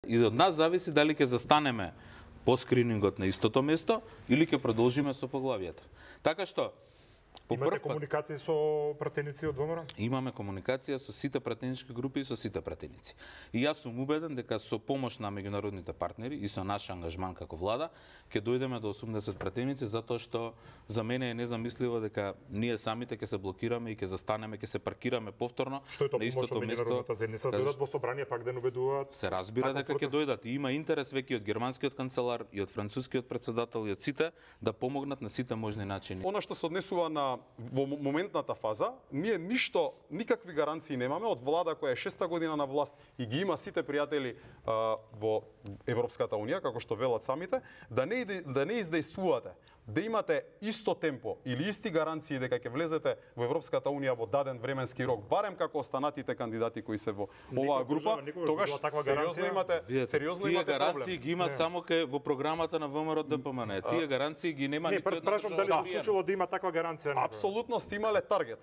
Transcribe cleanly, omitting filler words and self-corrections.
И од нас зависи дали ќе застанеме по скринингот на истото место или ќе продолжиме со поглавијата. Така што имате комуникација со пратеници од ВМРО? Имаме комуникација со сите пратенички групи и со сите пратеници. И јас сум убеден дека со помош на меѓународните партнери и со наш ангажман како влада ќе дојдеме до 80 пратеници, затоа што за мене е незамисливо дека ние самите ќе се блокираме и ќе застанеме, ќе се паркираме повторно на истото место. Заедница дојдат во собрание пак да убедуваат. Се разбира дека ќе дојдат и има интерес веќе од германскиот канцелар и од францускиот председател и од сите да помогнат на сите можни начини. Она што се однесува на во моментната фаза, ние никакви гаранции немаме од влада која е 6-та година на власт и ги има сите пријатели во Европската унија, како што велат самите, да не издејствувате, да имате исто темпо или исти гаранции дека ќе влезете во Европската унија во даден временски рок, барем како останатите кандидати кои се во оваа група, тогаш сериозно имате гаранции ги има само во програмата на ВМРО ДПМН. Тие гаранции ги нема никој од нас. Не, прашам дали се случило да има таква гаранција. Апсолутно сте имале таргет.